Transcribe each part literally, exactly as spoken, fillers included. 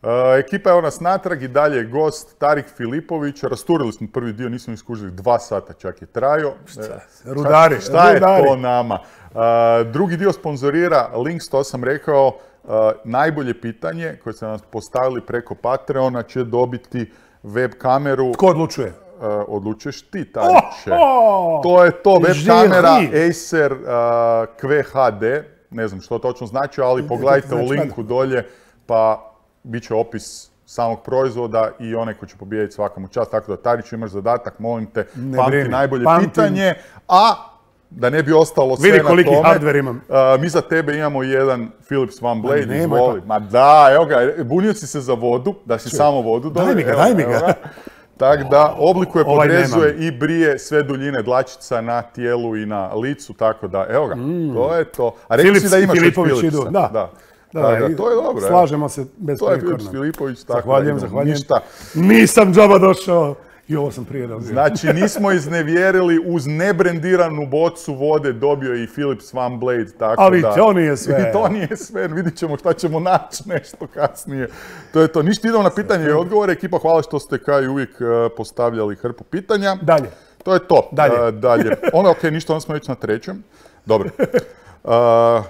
Uh, ekipa je nas natrag i dalje je gost Tarik Filipović. Rasturili smo prvi dio, nismo iskužili, dva sata čak je trajao. Šta, rudari, šta, šta rudari. je to nama? Uh, drugi dio sponzorira Links, to sam rekao. Uh, najbolje pitanje koje ste nas postavili preko Patreona će dobiti web kameru. Tko odlučuje? Uh, odlučuješ ti, Tariće. Oh, oh, to je to, web žiri. kamera Acer uh, Q H D. Ne znam što točno znači, ali pogledajte u linku dolje, pa bit će opis samog proizvoda i onaj koji će pobijediti svakamu čast. Tako da, Tariću, imaš zadatak, molim te, ne pamti brini. najbolje Pamtim. pitanje, a da ne bi ostalo sve Vidi na koliki tome, hardware imam. Uh, mi za tebe imamo jedan Philips One Blade, Ma izvoli. pa. Ma da, evo ga, bunio si se za vodu, da si Čuj, samo vodu dobio. daj mi ga, daj mi ga. Tako da, oblikuje, Ovaj podrezuje nemam. i brije sve duljine dlačica na tijelu i na licu, tako da, evo ga, mm. to je to. A rekli si da imaš Filipović Philipsa. idu, da. da. Da, Da, da, to je dobro. Slažemo se bez To je prekorna. Filips Filipović, tako Zahvaljujem, da zahvaljujem. ništa. Nisam džaba došao. I ovo sam prije dobio. Znači, nismo iznevjerili, uz nebrendiranu bocu vode dobio i Philips One Blade, tako Ali da... to nije sve. I to nije sve, vidit ćemo šta ćemo naći nešto kasnije. To je to. Ništa, idemo na pitanje i odgovore. Ekipa, hvala što ste kao i uvijek postavljali hrpu pitanja. Dalje. To je to. Dalje. Uh, dalje. Ono, ok, ništa, onda smo već na trećem. Dobro. Uh,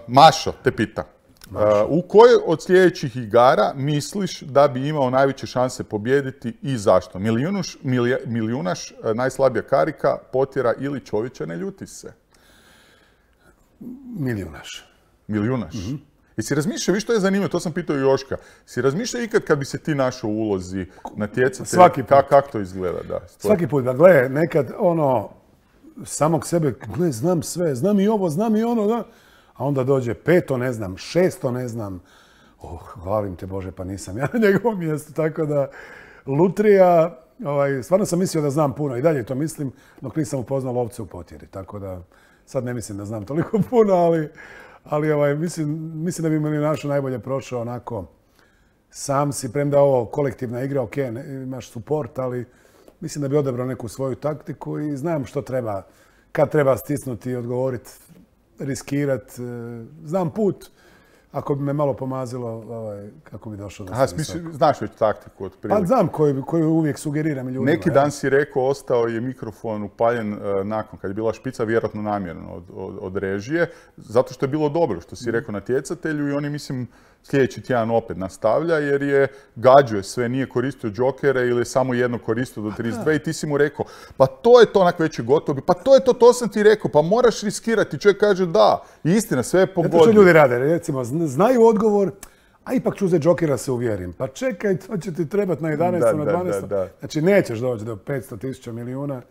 Mašo te pita. Uh, u kojoj od sljedećih igara misliš da bi imao najveće šanse pobijediti i zašto? Milijunuš, milija, milijunaš, najslabija karika, potjera ili čovječe ne ljuti se? Milijunaš. Milijunaš? Mm-hmm. Jesi razmišljao, viš što je zanimljivo, to sam pitao Joška. Si razmišljao ikad kad bi se ti našao u ulozi natjecatelja? Svaki put. Kako kak to izgleda? Da, Svaki put, da gle, nekad ono, samog sebe, gle, znam sve, znam i ovo, znam i ono, da. A onda dođe peto, ne znam, šesto, ne znam. Oh, hvalim te Bože, pa nisam ja na njegovom mjestu. Tako da, lutrija, ovaj, stvarno sam mislio da znam puno i dalje to mislim, dok nisam upoznao lovce u potjeri. Tako da, sad ne mislim da znam toliko puno, ali, ali ovaj, mislim, mislim da bi milijunašu najbolje prošao onako. Sam si, premda ovo kolektivna igra, ok, ne, imaš suport, ali mislim da bi odabrao neku svoju taktiku i znam što treba, kad treba stisnuti i odgovoriti, riskirat. Znam put, ako bi me malo pomazilo, ovaj, kako bi došao do Aha, smisli, znaš već taktiku od prije. Pa znam koju, koju uvijek sugeriram ljudima. Neki dan si rekao, ostao je mikrofon upaljen uh, nakon, kad je bila špica, vjerojatno namjerno od, od, od režije, zato što je bilo dobro, što si rekao natjecatelju i oni, mislim, sljedeći tjedan opet nastavlja, jer je gađuje sve, nije koristio džokere ili je samo jedno koristio do trideset dvije i ti si mu rekao, pa to je to onak već je gotovo, pa to je to, to sam ti rekao, pa moraš riskirati. Čovjek kaže da, istina, sve je pogodio. Zato što ljudi rade, recimo, znaju odgovor, a ipak ću uzeti džokera se uvjerim. Pa čekaj, to će ti trebati na jedanaestom, na dvanaestom. Da, da, da. Znači, nećeš doći do petsto tisuća milijuna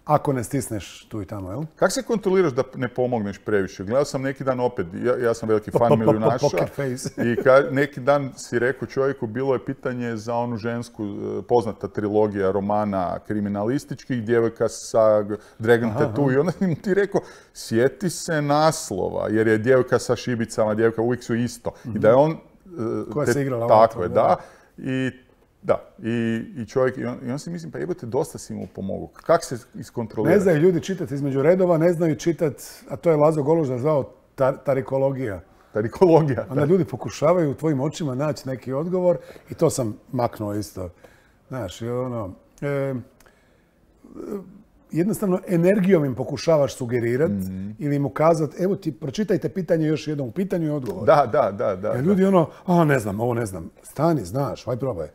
ako ne stisneš tu i tamo, jel? Kako se kontroliraš da ne pomogneš previše? Gledao sam neki dan opet, ja, ja sam veliki fan milijunaša. I ka, neki dan si rekao čovjeku, bilo je pitanje za onu žensku, poznata trilogija romana kriminalističkih, djevojka sa Dragon Tattoo. I onda ti rekao, sjeti se naslova, jer je djevojka sa šibicama, djevojka uvijek su isto. Mm-hmm. I da je on... Koja te, se igrala tako je, da. da. I Da, i, i čovjek, i on, i on si mislim, pa jebote, dosta si mu pomogao. Kako se iskontrolira? Ne znaju ljudi čitati između redova, ne znaju čitati, a to je Lazo Goluža zvao tar, tarikologija. Tarikologija. Onda ljudi pokušavaju u tvojim očima naći neki odgovor i to sam maknuo isto. Znaš, ono, e, jednostavno energijom im pokušavaš sugerirati mm-hmm. ili im ukazati, evo ti, pročitajte pitanje još jednom, u pitanju i odgovor. Da, da, da. da Jer ljudi ono, a ne znam, ovo ne znam, stani, znaš, aj probaj.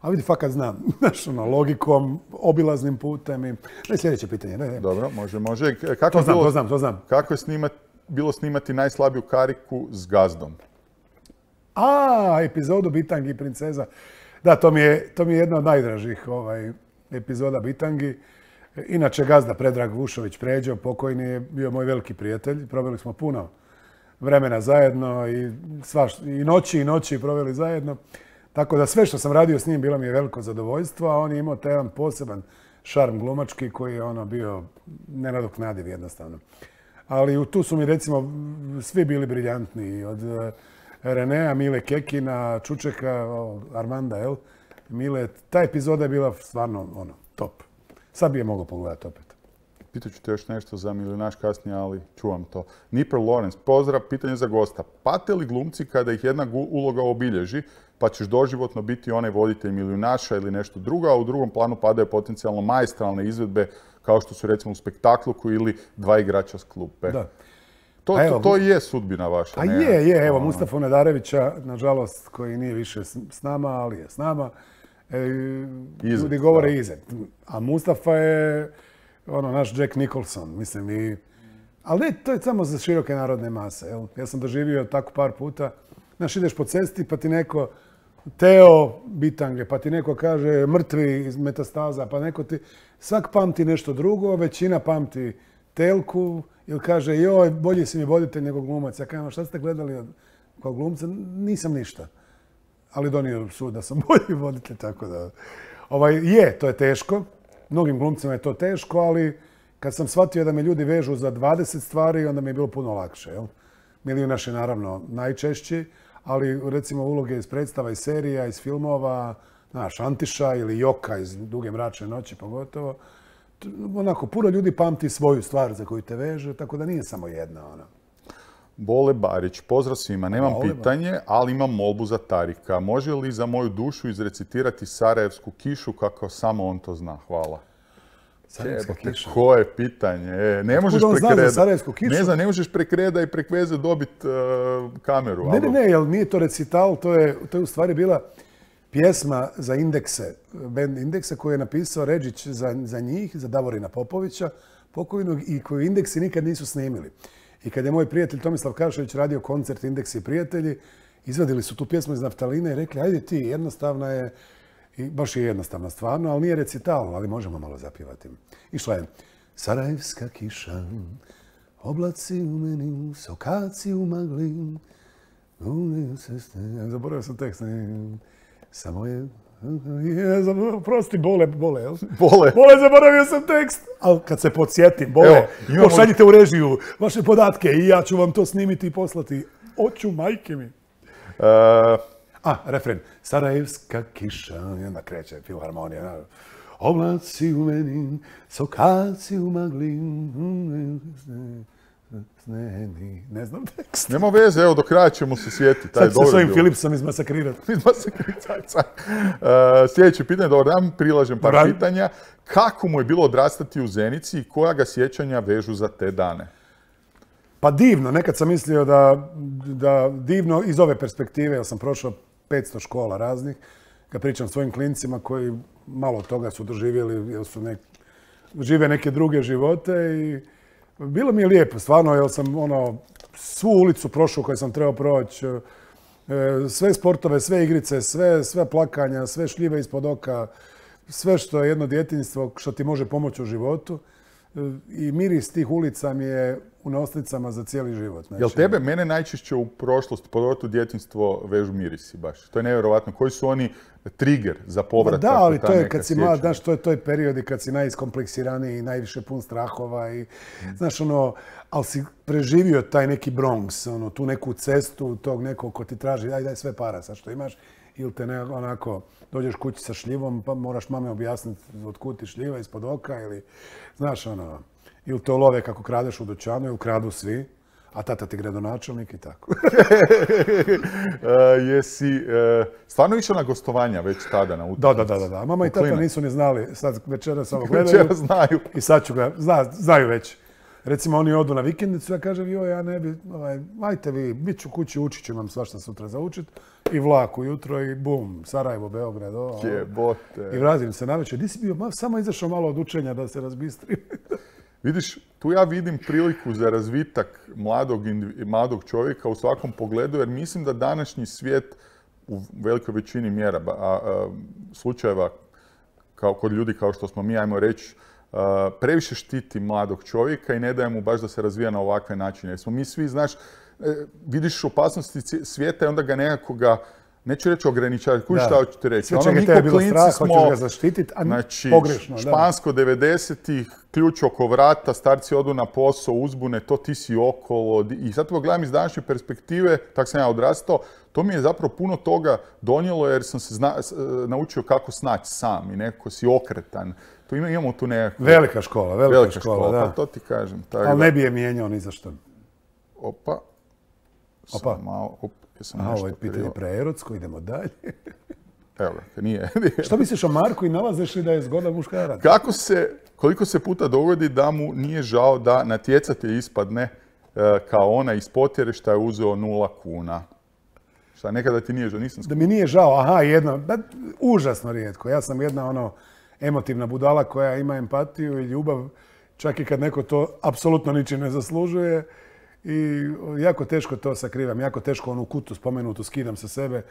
A vidi, fakat znam, znaš, ono, logikom, obilaznim putem i... Ne, sljedeće pitanje, ne, ne. Dobro, može, može. Kako to znam, bilo, to znam, to znam. Kako je snimat, bilo snimati najslabiju kariku s gazdom? A, epizodu Bitangi i princeza. Da, to mi je, to mi je jedna od najdražih ovaj, epizoda Bitangi. Inače, gazda Predrag Vušović Pređo, pokojni, je bio moj veliki prijatelj. Proveli smo puno vremena zajedno i, svaš, i noći i noći proveli zajedno. Tako da sve što sam radio s njim bilo mi je veliko zadovoljstvo, a on je imao taj jedan poseban šarm glumački koji je ono bio nenadoknadiv jednostavno. Ali tu su mi recimo svi bili briljantni, od Renea, Mile Kekina, Čučeka, Armanda, jel? Mile, ta epizoda je bila stvarno ono, top. Sad bi je mogao pogledati opet. Pitaću te još nešto za milijunaš kasnije, ali čuvam to. Nipper Lawrence, pozdrav, pitanje za gosta. Pate li glumci kada ih jedna uloga obilježi, pa ćeš doživotno biti onaj voditelj milijunaša ili nešto drugo, a u drugom planu padaju potencijalno maestralne izvedbe kao što su recimo u spektakluku ili dva igrača s klupe. Da. To, evo, to, to je sudbina vaša. A ne? je, je. Evo, Mustafa Nadarevića, nažalost, koji nije više s nama, ali je s nama, e, Izet, ljudi govore da. Izet. A Mustafa je ono, naš Jack Nicholson, mislim. I, ali ne, to je samo za široke narodne mase. Jel? Ja sam doživio tako par puta. Znaš, ideš po cesti pa ti neko Teo bitange, pa ti neko kaže mrtvi iz metastaza, pa neko ti... Svak pamti nešto drugo, većina pamti Telku, ili kaže, joj, bolji si mi voditelj nego glumac. Ja kažem, šta ste gledali kao glumca? Nisam ništa. Ali donio sud da sam bolji voditelj, tako da... Ovaj, je, to je teško. Mnogim glumcima je to teško, ali kad sam shvatio da me ljudi vežu za dvadeset stvari, onda mi je bilo puno lakše. Jel? Milijunaš je naravno najčešći, ali recimo uloge iz predstava, iz serija, iz filmova, znaš, Antiša ili Joka iz Duge mračne noći pogotovo. Onako, puno ljudi pamti svoju stvar za koju te veže, tako da nije samo jedna ona. Bole Barić, pozdrav svima. Nemam Bole pitanje, ali imam molbu za Tarika. Može li za moju dušu izrecitirati Sarajevsku kišu kako samo on to zna? Hvala. Sarajevska kiša. Koje pitanje? E, ne možeš prekreda. Ne znam, ne možeš prekreda i prek veze dobiti uh, kameru. Ne, ne, ne, jer nije to recital, to je, to je u stvari bila pjesma za Indekse, band Indekse koju je napisao Redžić za, za njih, za Davorina Popovića, pokojnog, i koju Indeksi nikad nisu snimili. I kad je moj prijatelj Tomislav Kašović radio koncert Indeksi i prijatelji, izvadili su tu pjesmu iz naftaline i rekli, ajde ti, jednostavna je, i baš je jednostavna stvarno, ali nije recital, ali možemo malo zapjevati. Išla je Sarajevska kiša, oblaci u meni, sokaci u magli, zaboravio sam tekst, samo je... Prosti, Bole, Bole, jel? Bole. Bole, zaboravio sam tekst. Ali kad se podsjetim, Bole, imamo... pošaljite u režiju vaše podatke i ja ću vam to snimiti i poslati. Oću, majke mi. Uh... A, refren. Sarajevska kiša, i onda kreće filharmonija. Oblaci u meni, sokaci u magli. Ne znam tekst. Nema veze, evo do kraja ćemo se sjetiti. Sad se s ovim Philipsom izmasakrirati. Izmasakrirati, uh, sljedeće pitanje, dobar dan, prilažem par Dobar. pitanja. Kako mu je bilo odrastati u Zenici i koja ga sjećanja vežu za te dane? Pa divno, nekad sam mislio da, da divno iz ove perspektive, jer sam prošao petsto škola raznih, kad pričam svojim klincima koji malo toga su doživjeli, jer su nek, žive neke druge živote i bilo mi je lijepo, stvarno, jer sam ono, svu ulicu prošao koju sam trebao proći, sve sportove, sve igrice, sve, sve plakanja, sve šljive ispod oka, sve što je jedno djetinjstvo što ti može pomoći u životu. I miris tih ulica mi je u nosnicama za cijeli život. Znači, jel tebe, mene najčešće u prošlosti, pogotovo djetinjstvo, vežu mirisi baš? To je nevjerovatno. Koji su oni trigger za povratak? Da, ali to je kad si mlad, znaš, to je toj periodi kad si najiskompleksiraniji i najviše pun strahova i, mm. znaš, ono, ali si preživio taj neki Bronx, ono, tu neku cestu, tog nekog ko ti traži, daj, daj sve para, sad što imaš, ili te ne, onako, dođeš kući sa šljivom, pa moraš mame objasniti otkud ti šljiva ispod oka, ili, znaš, ono, ili te love kako kradeš u dućanu, ili kradu svi, a tata ti gradonačelnik i tako. uh, jesi uh, stvarno išao na gostovanja već tada na utakmici? Da, da, da, da. Mama i tata nisu ni znali, sad večeras samo gledaju. Večera znaju. I sad ću ga, zna, znaju već. Recimo, oni odu na vikendicu, ja kažem, joj, ja ne bi, ovaj, ajte vi, bit ću kući, učit ću vam svašta sutra za učit. I vlak ujutro i bum, Sarajevo, Beograd, o, Jebote. I vratim se navečer. Di si bio? Ma, samo izašao malo od učenja da se razbistri. Vidiš, tu ja vidim priliku za razvitak mladog, mladog čovjeka u svakom pogledu, jer mislim da današnji svijet u velikoj većini mjera, a, a, slučajeva kao, kod ljudi kao što smo mi, ajmo reći, Uh, previše štiti mladog čovjeka i ne daje mu baš da se razvija na ovakve načine. Jer smo mi svi, znaš, e, vidiš opasnosti svijeta i onda ga nekako ga neću reći ograničavati, kuži šta hoću ti reći. Sve čega te je bilo strah, hoćeš ga zaštititi, a znači, pogrešno. Špansko devedesetih, ključ oko vrata, starci odu na posao, uzbune, to ti si okolo. I sad to gledam iz današnje perspektive, tako sam ja odrastao, to mi je zapravo puno toga donijelo jer sam se zna, naučio kako snaći sam i nekako si okretan. To ima, imamo tu nekako... Velika škola, velika, velika škola, škola, da. Pa to ti kažem. Ali ne bi je mijenjao ni za što. Opa. Opa. Sam malo, op, jesam A, nešto ovo je pitanje preerotsko, idemo dalje. Evo ga, nije. Što misliš o Marku i nalaziš li da je zgodan muškarac? Kako se, koliko se puta dogodi da mu nije žao da natjecatelj ispadne e, kao ona iz potjere šta je uzeo nula kuna? Šta, nekada ti nije žao, nisam skup... Da mi nije žao, aha, jedna, da, užasno rijetko. Ja sam jedna ono emotivna budala koja ima empatiju i ljubav, čak i kad neko to apsolutno ničim ne zaslužuje. I jako teško to sakrivam, jako teško onu kutu spomenutu skidam sa sebe.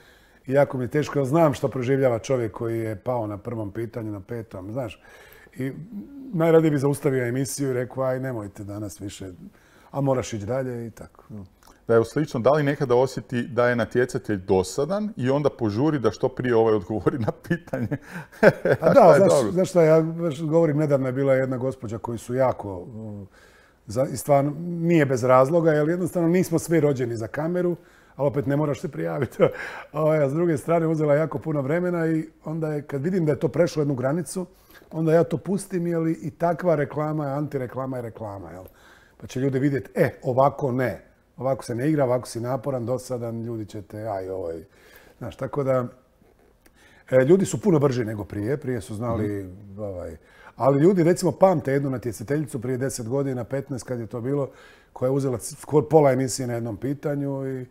I jako mi je teško, znam što proživljava čovjek koji je pao na prvom pitanju, na petom, znaš. I najradije bi zaustavio emisiju i rekao, aj nemojte danas više, a moraš ići dalje i tako. Da je slično, da li nekada osjeti da je natjecatelj dosadan i onda požuri da što prije ovaj odgovori na pitanje? A da, znaš, znaš šta, ja govorim, nedavno je bila jedna gospođa koji su jako, i stvarno nije bez razloga, jer jednostavno nismo svi rođeni za kameru, ali opet ne moraš se prijaviti. A s druge strane uzela jako puno vremena i onda je, kad vidim da je to prešlo jednu granicu, onda ja to pustim, jel, i takva reklama je antireklama i reklama, jel. Pa će ljudi vidjeti, e, ovako ne. Ovako se ne igra, ovako si naporan, dosadan, ljudi će te, aj, ovaj. Znaš, tako da, e, ljudi su puno brži nego prije, prije su znali, mm. ovaj, ali ljudi, recimo, pamte jednu natjecateljicu prije deset godina, petnaest, kad je to bilo, koja je uzela skoro pola emisije na jednom pitanju i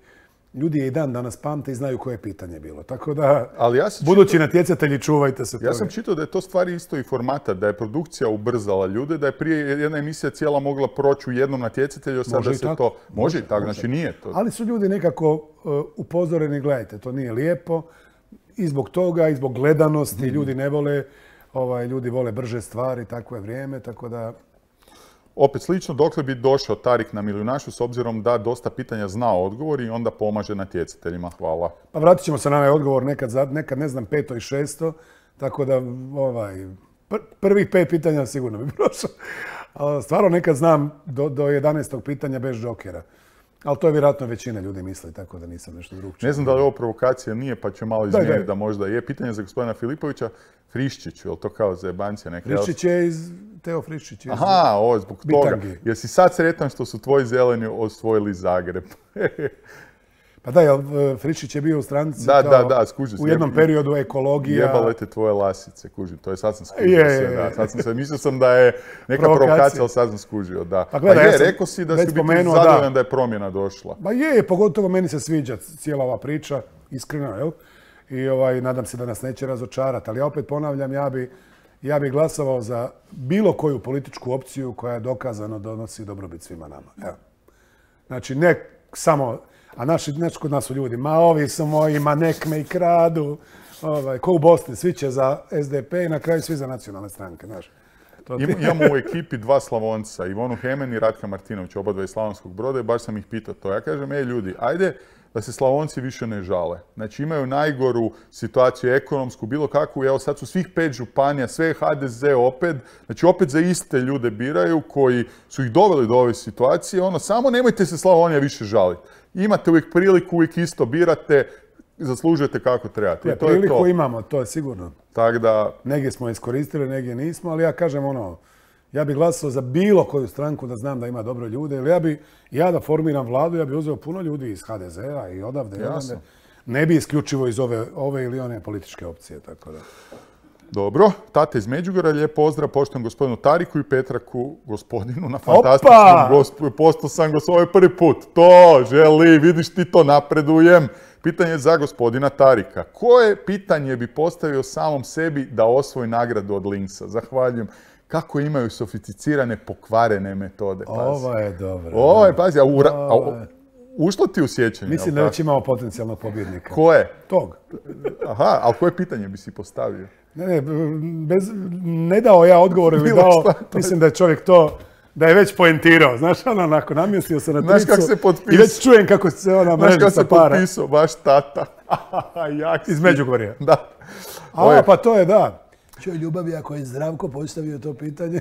ljudi je i dan danas pamte i znaju koje je pitanje bilo. Tako da, ali ja budući čitao, natjecatelji, čuvajte se toga. Ja sam čitao da je to stvari isto i formata, da je produkcija ubrzala ljude, da je prije jedna emisija cijela mogla proći u jednom natjecatelju, sad da se tako? to... Može i tako, znači nije to. Ali su ljudi nekako uh, upozoreni, gledajte, to nije lijepo. I zbog toga, i zbog gledanosti, mm. ljudi ne vole, ovaj, ljudi vole brže stvari, takvo je vrijeme, tako da... Opet slično, dokle bi došao Tarik na Milijunašu s obzirom da dosta pitanja zna odgovor i onda pomaže natjecateljima. Hvala. Pa vratit ćemo se na ovaj odgovor nekad, nekad ne znam, peto i šesto, tako da ovaj, pr prvih pet pitanja sigurno bi prošao. Stvarno nekad znam do, do jedanaestog pitanja bez džokera. Ali to je vjerojatno većina ljudi misli, tako da nisam nešto drugčije. Ne znam da li ovo provokacija nije, pa ću malo izmijeniti da možda je. Pitanje za gospodina Filipovića. Friščiću, je li to kao za jebancija neka? Friščić je iz... Teo Friščić iz... Aha, ovo, zbog toga. Jesi sad sretan što su tvoji zeleni osvojili Zagreb? Pa da, jel Friščić je bio u stranici da, kao da, da, skuži, u jednom periodu ekologija... Jebale te tvoje lasice, kužim. To je sad sam skužio je, sve, da. Sad sam se, mislio sam da je neka provokacija, ali sad sam skužio, da. Pa, gledaj, pa je, ja rekao si da si biti zadovoljan da. da je promjena došla. Pa je, pogotovo meni se sviđa cijela ova priča, iskreno, jel? I ovaj, nadam se da nas neće razočarati, ali ja opet ponavljam, ja bi, ja bi glasovao za bilo koju političku opciju koja je dokazano donosi dobrobit svima nama. Evo. Znači, ne samo, a naši, znači kod nas su ljudi, ma ovi su moji, ma nek me i kradu, ovaj, ko u Bosni, svi će za S D P i na kraju svi za nacionalne stranke, znaš. To ti... Imamo u ekipi dva Slavonca, Ivonu Hemen i Ratka Martinović, oba dva iz Slavonskog Broda i baš sam ih pitao to. Ja kažem, ej ljudi, ajde, da se Slavonci više ne žale. Znači imaju najgoru situaciju ekonomsku, bilo kakvu, evo sad su svih pet županija, sve H D Z opet, znači opet za iste ljude biraju koji su ih doveli do ove situacije, ono, samo nemojte se Slavonija više žaliti. Imate uvijek priliku, uvijek isto birate, zaslužujete kako trebate. Ja, to priliku je to. Imamo, to je sigurno. Tak da... Negdje smo iskoristili, negdje nismo, ali ja kažem ono, ja bih glasao za bilo koju stranku da znam da ima dobro ljude, ili ja bi, ja da formiram vladu, ja bi uzeo puno ljudi iz H D Z-a i odavde, odavde. Ne bi isključivo iz ove, ove ili one političke opcije, tako da. Dobro, tate iz Međugorja, lijep pozdrav poštovnom gospodinu Tariku i Petraku, gospodinu na fantastičnom gospodinu. Postao sam go svoj prvi put. To želi, vidiš ti to, napredujem. Pitanje za gospodina Tarika. Koje pitanje bi postavio samom sebi da osvoji nagradu od Linksa? Zahvaljujem. Kako imaju sofisticirane pokvarene metode, pazi. Ovo je dobro. Ovo je, pazi, a, ura, a ušlo ti u sjećanje? Mislim da već imamo potencijalnog pobjednika. Ko je? Tog. Aha, ali koje pitanje bi si postavio? Ne, ne, bez, ne dao ja odgovor ili dao, mislim da je čovjek to da je već poentirao. Znaš, ono, onako, namjestio se na tricu. Znaš kako se potpisao? I već čujem kako se ona mreža sa para. Znaš kako se potpisao, baš tata. Jak Iz Međugorja. Da. A, Oje. Pa to je, da. Čuj, ljubavi, ako je Zdravko postavio to pitanje.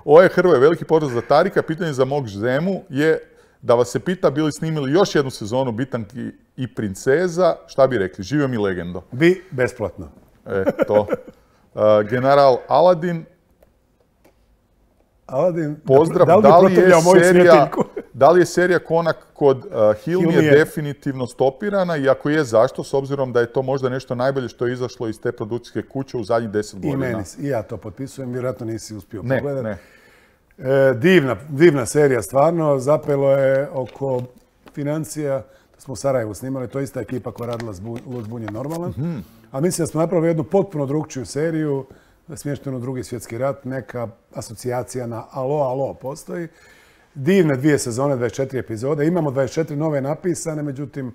Ovo je Hrvoje, veliki pozdrav za Tarika. Pitanje za mog Zemu je da vas se pita bili snimili još jednu sezonu Bitanki i princeza. Šta bi rekli? Živio mi legendo. Bi besplatno. E, to. Uh, general Aladin. Aladin, pozdrav, da li, da li, je serija, da li je serija Konak kod uh, Hilmije je definitivno stopirana i ako je, zašto? S obzirom da je to možda nešto najbolje što je izašlo iz te produkcijske kuće u zadnjih deset godina. I meni, i ja to potpisujem, vjerojatno nisi uspio ne, pogledati. Ne. E, divna, divna serija, stvarno. Zapelo je oko financija. Da smo u Sarajevu snimali, to je ista ekipa koja radila Lud zbunjen normalan. Mm-hmm. A mislim da smo napravili jednu potpuno drugčiju seriju, smještenu Drugi svjetski rat, neka asocijacija na Alo, Alo postoji. Divne dvije sezone, dvadeset četiri epizode. Imamo dvadeset četiri nove napisane, međutim,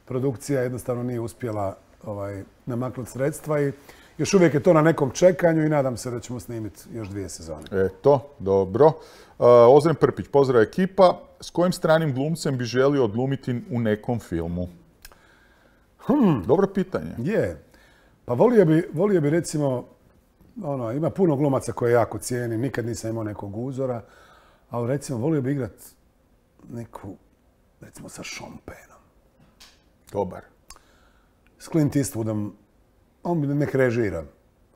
produkcija jednostavno nije uspjela ovaj, namaknuti sredstva i još uvijek je to na nekom čekanju i nadam se da ćemo snimiti još dvije sezone. Eto, dobro. Uh, Ozren Prpić, pozdrav ekipa. S kojim stranim glumcem bi želio odglumiti u nekom filmu? Hmm. Dobro pitanje. Je. Pa volio bi, volio bi recimo, ono, ima puno glumaca koje jako cijenim, nikad nisam imao nekog uzora, ali recimo volio bi igrat neku, recimo sa Sean Pennom. Dobar. S Clint Eastwoodom, on bi nek režira,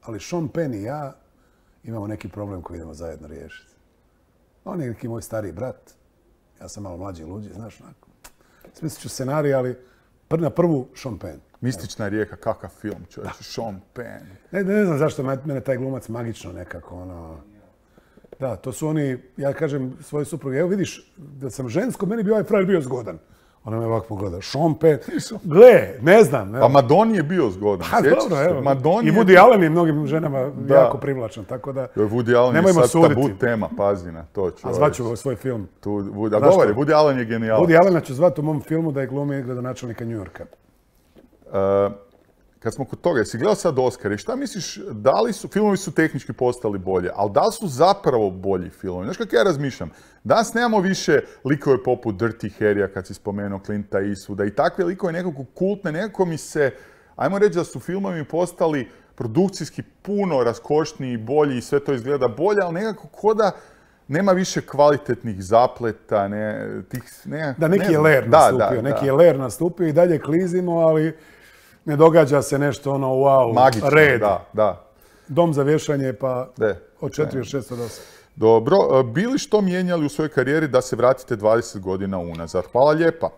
ali Sean Penn i ja imamo neki problem koji idemo zajedno riješiti. On je neki moj stariji brat, ja sam malo mlađi i luđi, znaš, onako. Smislit ću scenarij, ali na prvu Sean Penn. Mistična rijeka, kakav film, čovječ, Sean Penn. Ne, ne znam zašto mene taj glumac magično nekako, ono... Da, to su oni, ja kažem svoje supruge, evo vidiš, da sam žensko, meni bi ovaj frajer bio zgodan. Ona me ovako pogleda, Sean Penn, gle, ne znam. Pa Madoni je bio zgodan, pa, dobro, evo. Madoni I Woody je... Allen je mnogim ženama da. jako privlačan, tako da... Woody Allen je sad suditi. Tabu tema, pazi na to. Čovječ. A zvaću svoj film. Tu, Woody, a dobar je, Woody Allen je genijalan. Woody Allena ću zvati u mom filmu da je glumi gradonačelnika New Yorka. Uh, kad smo kod toga, jesi gledao sad Oscar i šta misliš, da li su, filmovi su tehnički postali bolje, ali da li su zapravo bolji filmovi? Znaš kako ja razmišljam? Danas nemamo više likove poput Dirty Harrya, kad si spomenuo Clinta Eastwooda i takve likove nekako kultne, nekako mi se, ajmo reći da su filmovi postali produkcijski puno raskošniji, bolji i sve to izgleda bolje, ali nekako ko da nema više kvalitetnih zapleta, ne, tih, ne, da, neki ne, je ler da, nastupio, da, neki da. je ler nastupio i dalje klizimo, ali ne događa se nešto ono wow, magično, red. Da, da. Dom za vješanje pa De, od četiri do šest od osam. Dobro, bili što mijenjali u svojoj karijeri da se vratite dvadeset godina unazad? Hvala lijepa.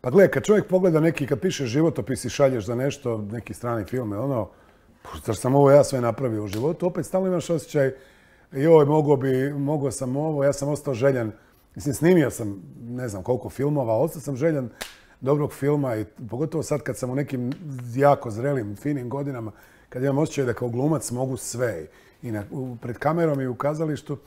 Pa gledaj, kad čovjek pogleda neki, kad piše životopis i šalješ za nešto, neki strani film, ono, zar sam ovo ja sve napravio u životu, opet stalno imaš osjećaj, joj, mogao bi, mogao sam ovo, ja sam ostao željan, mislim, snimio sam ne znam koliko filmova, ostao sam željan dobrog filma i pogotovo sad kad sam u nekim jako zrelim, finim godinama, kad imam osjećaj da kao glumac mogu sve i na, u, pred kamerom i u kazalištu,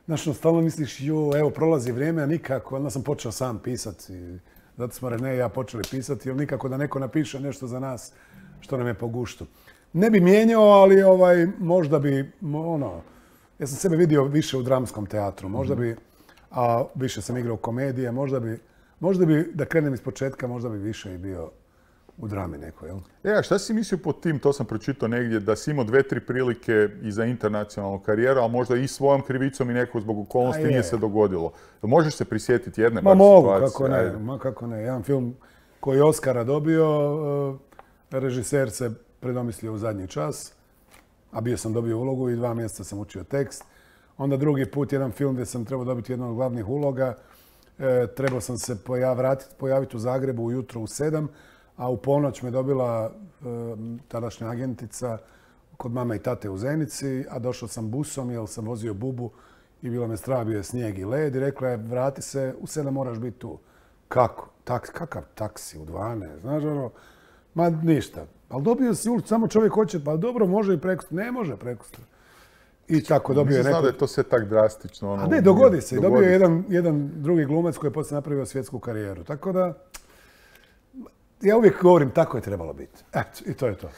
znaš, no, stalno misliš, jo, evo, prolazi vrijeme, a nikako, onda sam počeo sam pisati. Zato smo Rene i ja počeli pisati, jer nikako da neko napiše nešto za nas što nam je po guštu. Ne bi mijenjao, ali ovaj, možda bi, ono, ja sam sebe vidio više u dramskom teatru, možda bi, a više sam igrao komedije, možda bi, možda bi, da krenem iz početka, možda bi više i bio u drami neko, jel? E, a šta si mislio pod tim, to sam pročitao negdje, da si imao dve, tri prilike i za internacionalnu karijeru, ali možda i svojom krivicom i neko zbog okolnosti nije se dogodilo. Možeš se prisjetiti jedne ma bar mogu, situacije? kako ne, ma kako ne. Jedan film koji je Oscara dobio, režiser se predomislio u zadnji čas, a bio sam dobio ulogu i dva mjeseca sam učio tekst. Onda drugi put jedan film gdje sam trebao dobiti jednu od glavnih uloga, e, trebao sam se pojaviti, pojaviti u Zagrebu ujutro u sedam, a u ponoć me dobila e, tadašnja agentica kod mame i tate u Zenici, a došao sam busom jer sam vozio bubu i bilo me strah, bio je snijeg i led i rekla je vrati se, u sedam moraš biti tu. Kako? Tak, kakav taksi u dvanaest? Znaš ono, ma ništa. Ali dobio si ulicu, samo čovjek hoće, pa dobro, može i preko, ne može preko. I tako dobio je neko... Nisam znao da je to sve tak drastično. Ono, a ne, dogodi se. Dobio je jedan, jedan drugi glumac koji je poslije napravio svjetsku karijeru. Tako da, ja uvijek govorim, tako je trebalo biti. Eto, i to je to.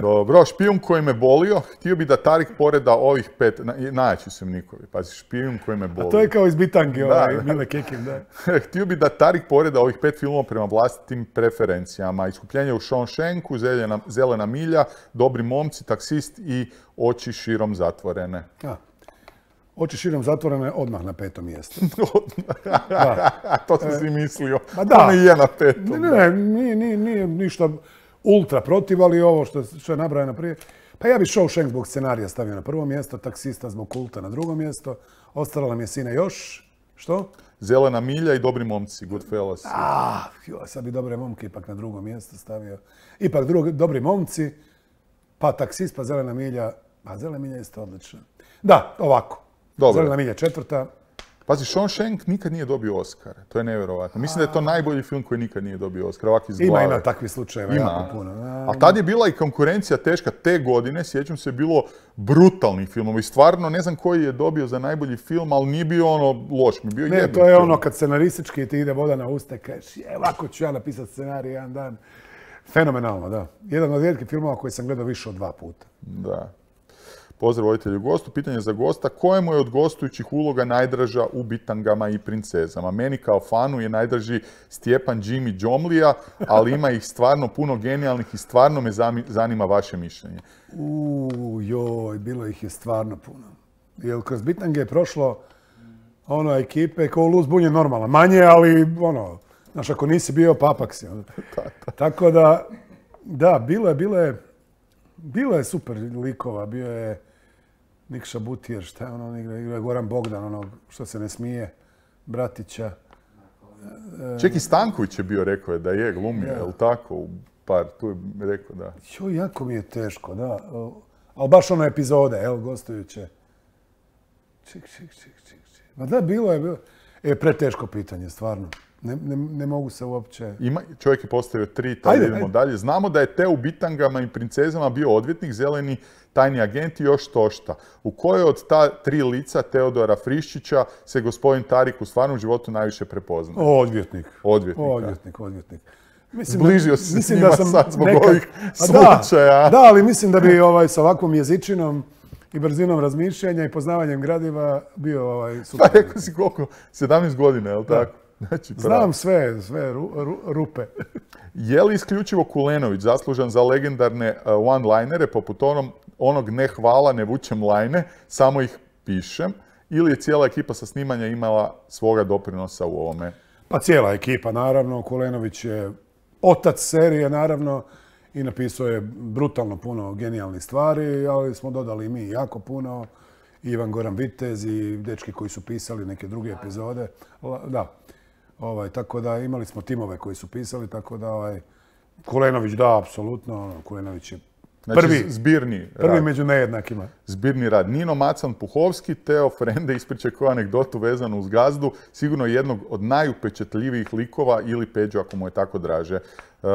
Dobro, špijun koji me bolio, htio bi da Tarik poreda ovih pet, na, najjači su nikovi, pazi, špijun koji me bolio. A to je kao iz Bitange, ovaj, da, Mile Kekin, da. Htio bi da Tarik poreda ovih pet filmova prema vlastitim preferencijama. Iskupljenje u Shawshanku, zelena, zelena milja, Dobri momci, Taksist i Oči širom zatvorene. A. Oči širom zatvorene odmah na petom mjestu. To sam si mislio. Ma da. Ono je na petom. Ne, ne, ne, nije, nije, nije ništa ultra protiv, ali ovo što, što je nabrajeno prije. Pa ja bi Shawshank zbog scenarija stavio na prvo mjesto, Taksista zbog kulta na drugo mjesto. Ostala nam je Sina još. Što? Zelena milja i Dobri momci, Goodfellas. Ah, jo, sad bi Dobre momke ipak na drugo mjesto stavio. Ipak drugi, Dobri momci, pa Taksist, pa Zelena milja. Pa Zelena milja je isto odlična. Da, ovako. Dobro. Zelena milja četvrta. Pazi, Shawshank nikad nije dobio Oscara. To je nevjerovatno. Mislim da je to najbolji film koji nikad nije dobio Oscara. Ovak iz glave. Ima, ima takvih slučajeva jako puno. A tad je bila i konkurencija teška te godine. Sjećam se, bilo brutalnih filmova. I stvarno, ne znam koji je dobio za najbolji film, ali nije bio ono loš. Mi bio ne, to je film. Ono kad scenaristički ti ide voda na usta i kažeš, je, ovako ću ja napisati scenarij jedan dan. Fenomenalno, da. Jedan od rijetkih filmova koji sam gledao više od dva puta. Da. Pozdrav voditelju gostu. Pitanje za gosta. Kojemu je od gostujućih uloga najdraža u Bitangama i princezama? Meni kao fanu je najdraži Stjepan Jimmy Džomlija, ali ima ih stvarno puno genijalnih i stvarno me zanima vaše mišljenje. Uuu, joj, bilo ih je stvarno puno. Jer kroz Bitange je prošlo ono ekipe kao Luz Bun je normalna. Manje, ali ono, znaš, ako nisi bio, papak si. Tako da, da, bilo je, bilo je, bilo je super likova. Bio je Nikša Butijer, šta je ono, igra Goran Bogdan, ono što se ne smije, bratića. Čeki Stanković je bio, rekao je da je glumio, je li tako? U par, tu je rekao da. Jo, jako mi je teško, da. Ali baš ono epizode, evo, gostujuće. Ček, ček, ček, ček, ček. Ma da, bilo je, bilo. E, preteško pitanje, stvarno. Ne, ne, ne mogu se uopće... Ima, čovjek je postavio tri, tako idemo dalje. Znamo da je Teo u Bitangama i princezama bio odvjetnik, zeleni tajni agent i još tošta. U kojoj od ta tri lica Teodora Friščića se gospodin Tarik u stvarnom životu najviše prepoznaje? Odvjetnik. Odvjetnik. Odvjetnik, odvjetnik. Mislim Zbližio si se s njima sad zbog nekad, ovih slučaja. Da, da, ali mislim da bi ovaj, s ovakvom jezičinom i brzinom razmišljanja i poznavanjem gradiva bio ovaj, super. Pa rekao si koliko? sedamnaest godina, je li tako? Znači, znam sve, sve ru, ru, rupe. Je li isključivo Kulenović zaslužan za legendarne uh, one-linere poput onom, onog ne hvala, ne vučem lajne, samo ih pišem, ili je cijela ekipa sa snimanja imala svoga doprinosa u ovome? Pa cijela ekipa, naravno. Kulenović je otac serije, naravno, i napisao je brutalno puno genijalnih stvari, ali smo dodali i mi jako puno. Ivan Goran Vitez i dečki koji su pisali neke druge epizode. Da. Ovaj, tako da imali smo timove koji su pisali, tako da ovaj, Kulenović da, apsolutno. Kulenović je prvi, znači, zbirni prvi rad. Među nejednakima. Zbirni rad. Nino Macan Puhovski, Teo Frende ispriča koju anegdotu vezanu uz Gazdu, sigurno jednog od najupečatljivijih likova ili Peđo ako mu je tako draže. Uh,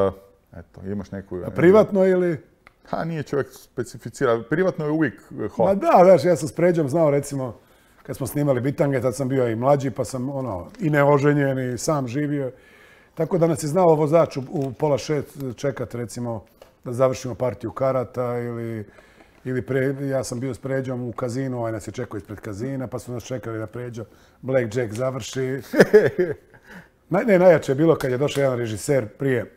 eto, imaš neku... A privatno ili... Ha, nije čovjek specificira. Privatno je uvijek hot. Ma da, znaš, ja sam s Pređom znao, recimo, kad smo snimali Bitange, tad sam bio i mlađi, pa sam ono, i neoženjen i sam živio. Tako da nas je znao vozač u, u pola šest čekat, recimo, da završimo partiju karata ili, ili pre, ja sam bio s Pređom u kazinu, ovaj nas je čekao ispred kazina, pa su nas čekali da Pređo Blackjack završi. Naj, ne, najjače je bilo kad je došao jedan režiser prije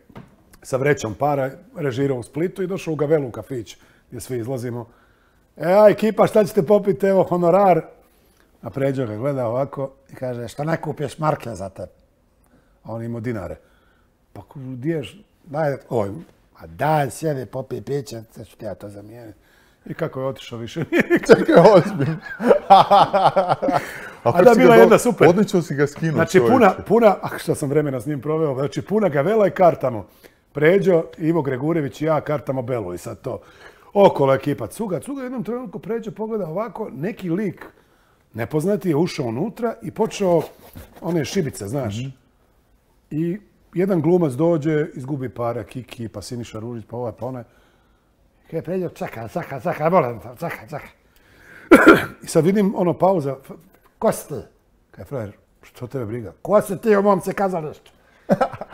sa vrećom para, režirao u Splitu i došao u Gavelu u kafić gdje svi izlazimo. E, a ekipa, šta ćete popiti, evo honorar. A Pređo ga gleda ovako i kaže, što ne kupiješ marke za tebe? A on imao dinare. Pa gdješ, daj, oj, a daj, sjedi, popij piće, sad ću ti ja to zamijeniti. I kako je otišao više? Čekaj, ozbiljno. A da, bila jedna super. Odlično si ga skinuo. Znači, puna, puna, ah, što sam vremena s njim proveo, znači puna Gavela i kartamo. Pređo, Ivo Gregurević i ja kartamo Belu i sad to. Okolo ekipa cuga, cuga, jednom trenutku Pređo pogleda ovako, neki lik nepoznati je ušao unutra i počeo one šibice, znaš. Mm-hmm. I jedan glumac dođe, izgubi pare, Kiki, pa Siniša Ružić, pa ovaj, pa onaj. Kaj Pređo, čekaj, čekaj, čekaj, molim te, čekaj, čekaj. I sad vidim ono pauza. Ko si ti? Kaj frajer, što tebe briga? Ko si ti u momce kazalištu?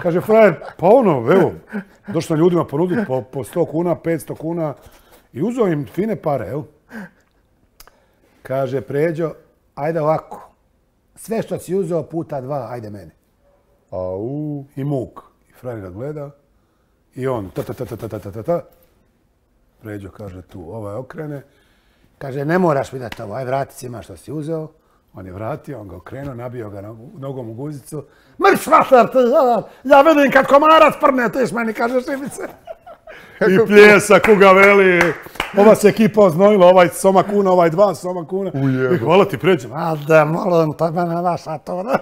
Kaže, frajer, pa ono, evo, došlo ljudima ponuditi po, po sto kuna, petsto kuna i uzeo im fine pare, evo. Kaže, Pređo, ajde ovako, sve što si uzeo puta dva, ajde meni. Au. I muk. I frajer ga gleda i on ta ta ta ta ta ta ta ta. Pređo kaže tu, ovaj okrene. Kaže, ne moraš mi dati ovo, aj vrati si ima što si uzeo. On je vratio, on ga okrenuo, nabio ga nogom u guzicu. Mrš mater, ja vidim kad komarac prne, tiš meni, kaže Šimice. I pljesak u ga veli. Ova se ekipa oznojila, ovaj soma kuna, ovaj dva soma kuna. I hvala ti, Pređo. A da, molim, to me ne vaša to, da.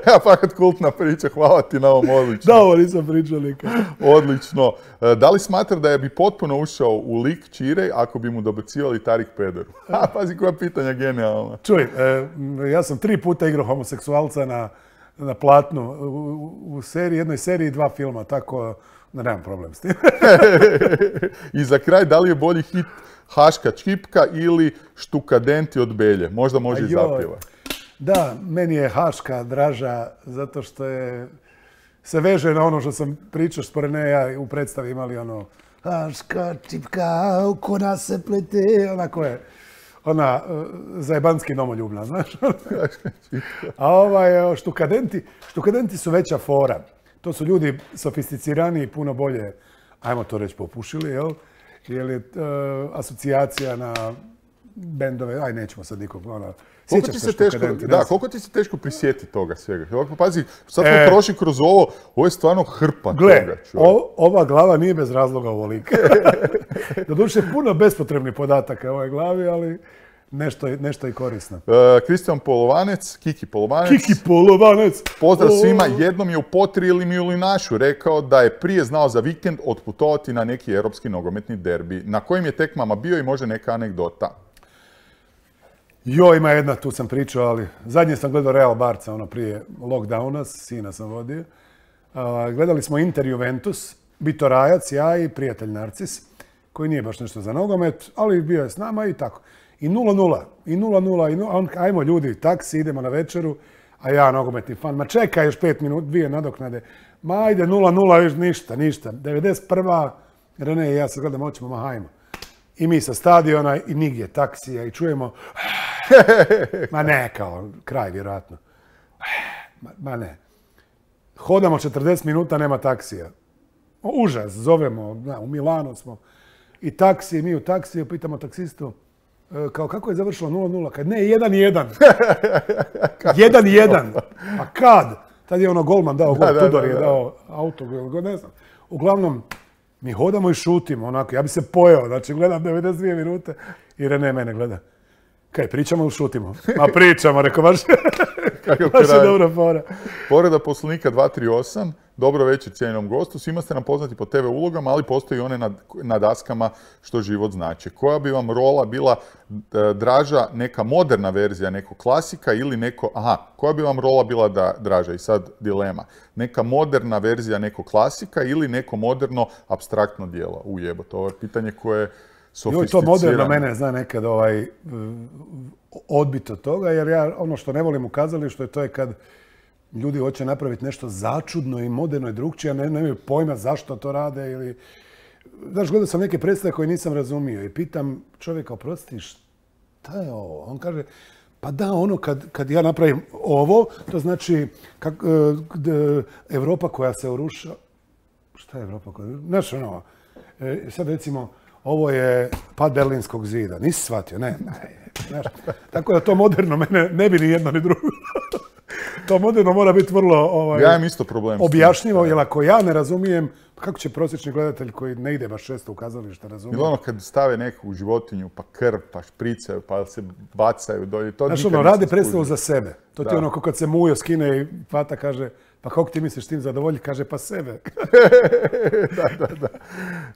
Ja, fakat kultna priča, hvala ti na ovom, odlično. Da, ovo nisam pričao nikad. Odlično. Da li smatra da je bi potpuno ušao u lik Ćire ako bi mu dobacivali Tarik Pederu? A, pazi koja pitanja genijalna. Čuj, e, ja sam tri puta igrao homoseksualca na, na platnu u, u seriji, jednoj seriji dva filma, tako da nemam problem s tim. I za kraj, da li je bolji hit Haška čipka ili Štukadenti od Belje? Možda može i zapjevati. Da, meni je Haška draža zato što je, se veže na ono što sam pričao što pored ne ja u predstavi imali ono Haška čipka, oko nas se plete, onako je, ona zajebanski domoljubna, znaš. A ovaj, štukadenti, štukadenti su veća fora. To su ljudi sofisticirani i puno bolje, ajmo to reći, popušili, jel? Jer je uh, asocijacija na bendove, aj nećemo sad nikog, ono, Koliko ti, se teško, da, koliko ti se teško prisjeti toga svega? Pazi, sad smo e, prošli kroz ovo, ovo je stvarno hrpa gle, toga. O, ova glava nije bez razloga ovolika. Doduše, puno bespotrebnih podataka u ovoj glavi, ali nešto, nešto i korisno. Kristijan uh, Polovanec, Kiki Polovanec. Kiki Polovanec! Pozdrav oh. svima, jednom je u Potri ili Milinašu rekao da je prije znao za vikend otputovati na neki europski nogometni derbi. Na kojim je tekmama bio i može neka anegdota? Jo, ima jedna, tu sam pričao, ali zadnje sam gledao Real Barca, ono prije lockdowna, sina sam vodio. Uh, gledali smo Inter Juventus, Bito Rajac, ja i prijatelj Narcis, koji nije baš nešto za nogomet, ali bio je s nama i tako. I nula nula, i nula nula, i nula, on, ajmo ljudi, taksi, idemo na večeru, a ja nogometni fan, ma čekaj još pet minuta, dvije nadoknade, ma ajde nula nula, još ništa, ništa. devedeset prva, Rene i ja se gledamo, hoćemo, ma hajmo. I mi sa stadiona i nigdje taksija i čujemo ma ne, kao kraj vjerojatno. Ma, ma ne. Hodamo četrdeset minuta, nema taksija. Užas, zovemo, na, u Milanu smo. I taksi, mi u taksiju pitamo taksistu, kao kako je završilo nula nula, kad ne, jedan jedan. jedan jedan. A kad? Tad je ono golman dao gol, Tudor je dao auto, ne znam. Uglavnom, mi hodamo i šutimo, onako, ja bi se pojeo, znači gledam devedeset dvije minute i Rene mene gleda. Kaj, pričamo ili šutimo? Ma pričamo, rekao, baš, baš je dobra fora. Povreda Poslovnika dva tri osam, dobro večer cijenjenom gostu, svima ste nam poznati po te ve ulogama, ali postoji one na, na daskama što život znači. Koja bi vam rola bila e, draža, neka moderna verzija, neko klasika ili neko, aha, koja bi vam rola bila da, draža i sad dilema, neka moderna verzija neko klasika ili neko moderno apstraktno djelo? Ujebo, to je pitanje koje Joj, to moderno mene zna nekad ovaj, odbiti od toga, jer ja ono što ne volim u kazalištu to je kad ljudi hoće napraviti nešto začudno i moderno i drugčije, a ne, nemaju pojma zašto to rade ili... Znaš, gledao sam neke predstave koje nisam razumio i pitam čovjeka, oprosti, šta je ovo? On kaže, pa da, ono kad, kad ja napravim ovo, to znači kak, d, Evropa koja se uruša... Šta je Evropa koja se uruša? Znaš, ono, e, sad recimo, ovo je pad Berlinskog zida. Nisi shvatio, ne. Znaš, tako da to moderno mene ne bi ni jedno ni drugo. To moderno mora biti vrlo ovaj, ja imam isto problem objašnjivo, jer ako ja ne razumijem, kako će prosječni gledatelj koji ne ide baš često u kazalište razumije? Ili ono kad stave neku životinju, pa krv, pa špricaju, pa se bacaju dolje. To znaš, ono, radi predstavu za sebe. To ti je ono kad se Mujo skine i Fata kaže, pa kako ti misliš tim zadovolji? Kaže, pa sebe. da, da, da.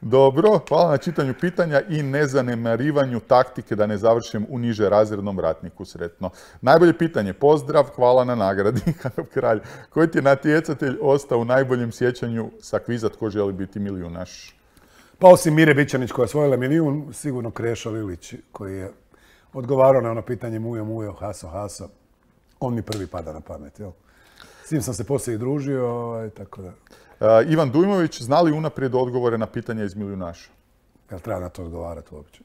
Dobro, hvala na čitanju pitanja i nezanemarivanju taktike da ne završim u niže razrednom ratniku sretno. Najbolje pitanje, pozdrav, hvala na nagradi, kralj. Koji ti je natjecatelj ostao u najboljem sjećanju sa kviza Tko želi biti milijunaš? Pa osim Mire Bićanić koja je osvojila milijun, sigurno Krešo Lilić koji je odgovarao na ono pitanje Mujo, Mujo, Haso, Haso. On mi prvi pada na pamet, jel? S njim sam se poslije i družio, ovaj, tako da. Uh, Ivan Dujmović, zna li unaprijed odgovore na pitanja iz Milijunaša? Jel treba na to odgovarati uopće?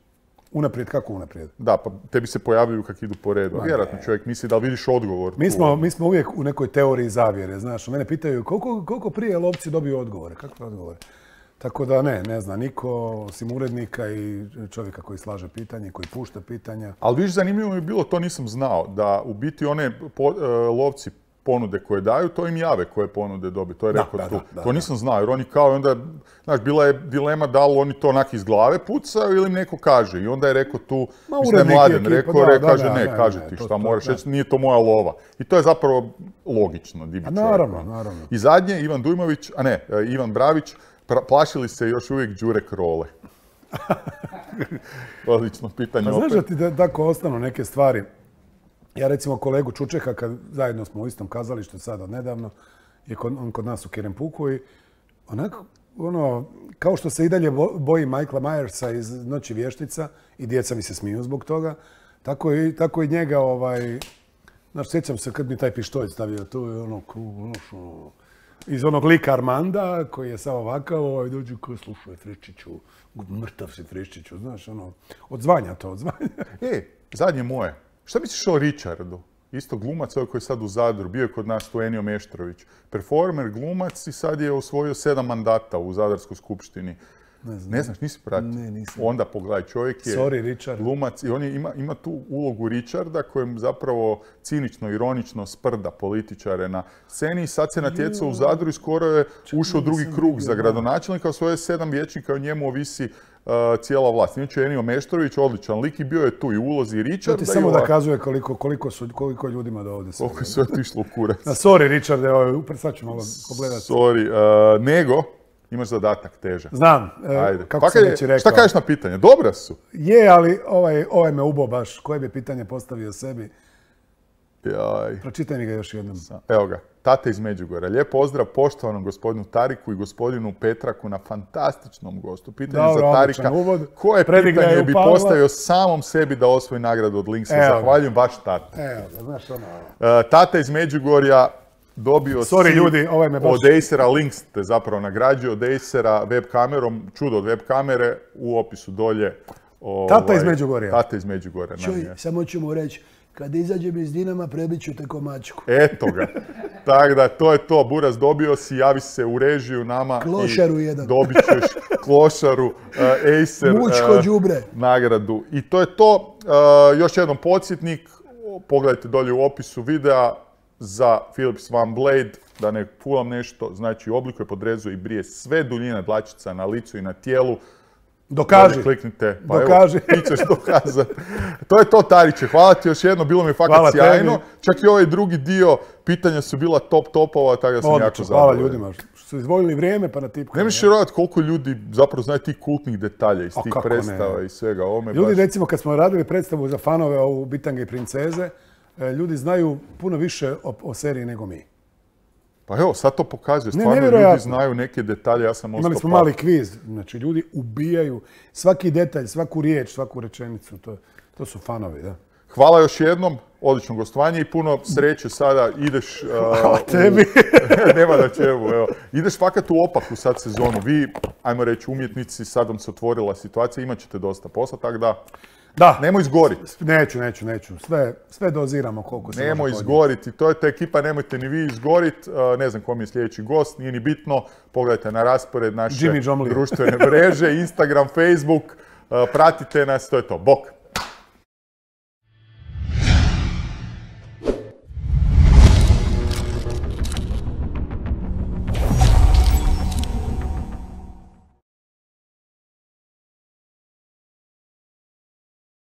Unaprijed, kako unaprijed? Da, pa tebi se pojavljuju kak idu po redu. Vjerojatno čovjek misli da li vidiš odgovor. Mi smo, mi smo uvijek u nekoj teoriji zavjere, znaš. Mene pitaju koliko, koliko prije lovci dobiju odgovore, kakve odgovore? Tako da ne, ne zna niko, osim urednika i čovjeka koji slaže pitanje, koji pušta pitanja. Ali viš, zanimljivo mi je bilo, to nisam znao, da u biti one po, uh, lovci ponude koje daju, to im jave koje ponude dobiju. To je rekao da, tu. Da, da, to nisam znao, jer oni kao onda, znaš, bila je dilema da li oni to onak iz glave pucaju ili im neko kaže. I onda je rekao tu, Ma, mislim da je Mladen rekao, da, re, da, kaže da, ne, ne, kaže ne, ti to- šta to- moraš da. reći, nije to moja lova. I to je zapravo logično, divi A čovjek, naravno, ono. naravno. I zadnje, Ivan Dujmović, a ne, e, Ivan Bravić, pra- plašili se još uvijek Đure Krole. Odlično pitanje Pa znaš opet. da ti da, tako ostanu neke stvari. Ja recimo kolegu Čučeka, kad zajedno smo u istom kazalištu sad od nedavno, je kod, on kod nas u Kerempuku i onako, ono, kao što se i dalje bo- boji Michaela Myersa iz Noći vještica i djeca mi se smiju zbog toga, tako i, tako i njega, ovaj, znaš, sjećam se kad mi taj pištolj stavio tu i ono, kru- ono, što- iz onog lika Armanda, koji je samo ovakav, ovaj, dođu ko slušaj Friščiću, mrtav si Friščiću, znaš, ono, odzvanja to, odzvanja. E, zadnje moje. Šta misliš o Richardu? Isto glumac, ovaj koji je sad u Zadru, bio je kod nas tu Enio Meštrović. Performer, glumac i sad je osvojio sedam mandata u Zadarskoj skupštini. Ne znam. Ne znaš, nisi pratio? Ne, nisam. Onda pogledaj, čovjek je Sorry, Richard. glumac i on je, ima, ima tu ulogu Richarda kojem zapravo cinično, ironično sprda političare na sceni i sad se natjecao u Zadru i skoro je ušao u drugi nisam krug vidio, za da. gradonačelnika, osvojio sedam vijećnika i o njemu ovisi uh, cijela vlast. Inače Enio Meštrović, odličan lik i bio je tu i u ulozi To Richarda ti i samo ovako. da kazuje koliko, koliko, su, koliko je ljudima do ovdje sve. Koliko je sve otišlo u kurac. Na, sorry, Richard, evo, upr- sad ću malo pogledati. Sorry, uh, nego imaš zadatak težak. Znam, e, Ajde. kako Pa sam kaj- već i rekao. Šta kažeš na pitanje? Dobra su. Je, ali ovaj, ovaj me ubo baš. Koje bi pitanje postavio sebi? Jaj. Pročitaj mi ga još jednom. Evo ga, Tate iz Međugorja. Lijep pozdrav poštovanom gospodinu Tariku i gospodinu Petraku na fantastičnom gostu. Pitanje Dobro, za Tarika. odličan uvod. Koje Predigra je pitanje u bi Pavla. postavio samom sebi da osvoji nagradu od Linksa? Evo ga. Zahvaljujem baš Tate. Evo, ga, znaš ono... Uh, Tata iz Međugorja dobio Sorry, si ljudi, ovaj me baš- od Acera, Links te zapravo nagrađuje od Acera web kamerom, čudo od web kamere, u opisu dolje. Tata ovaj, iz Međugorja. Tata iz Međugorja. nam Čuj, je. samo ću mu reći, kad izađem iz Dinama, prebit ću te ko mačku. Eto ga. Tako da, to je to. Buraz, dobio si, javi se u režiju nama. Klošaru i jedan. Dobit ćeš klošaru, uh, Acer, Mučko uh, đubre. nagradu. I to je to. Uh, još jednom podsjetnik. Pogledajte dolje u opisu videa za Philips One Blade. Da ne fulam nešto. Znači, oblikuje, podrezuje i brije sve duljine dlačica na licu i na tijelu. Dokaži. Dolje kliknite, pa Dokaži. evo, ti ćeš dokazati. To je to, Tariće. Hvala ti još jedno, bilo mi je fakat Hvala tebi. sjajno. Čak i ovaj drugi dio pitanja su bila top topova, tako da sam jako Odlično, hvala zadovoljan. ljudima što su izdvojili vrijeme pa na tipku. Ne misliš vjerovati koliko ljudi zapravo znaju tih kultnih detalja iz A tih kako ne? predstava i svega. Ovo me Ljudi, baš... recimo, kad smo radili predstavu za fanove ovu Bitange i princeze, e, ljudi znaju puno više o, o seriji nego mi. Pa evo, sad to pokazuje. Ne, Stvarno ljudi nevjerojatno. znaju neke detalje, ja sam ostao Imali smo paf. mali kviz, znači ljudi ubijaju svaki detalj, svaku riječ, svaku rečenicu, to, to su fanovi, da. Hvala još jednom, odlično gostovanje i puno sreće sada ideš... uh, Hvala tebi. u- Nema na čemu, evo. Ideš fakat u opaku sad sezonu. Vi, ajmo reći, umjetnici, sad vam se otvorila situacija, imat ćete dosta posla, tako da Da, nemoj izgorit. neću, neću, neću. Sve, sve doziramo koliko se Nemoj može podnijeti. izgoriti, to je ta ekipa, nemojte ni vi izgorit, uh, ne znam kom je sljedeći gost, nije ni bitno, pogledajte na raspored naše Jimmy Jomley. društvene mreže, Instagram, Facebook, uh, pratite nas, to je to, bok!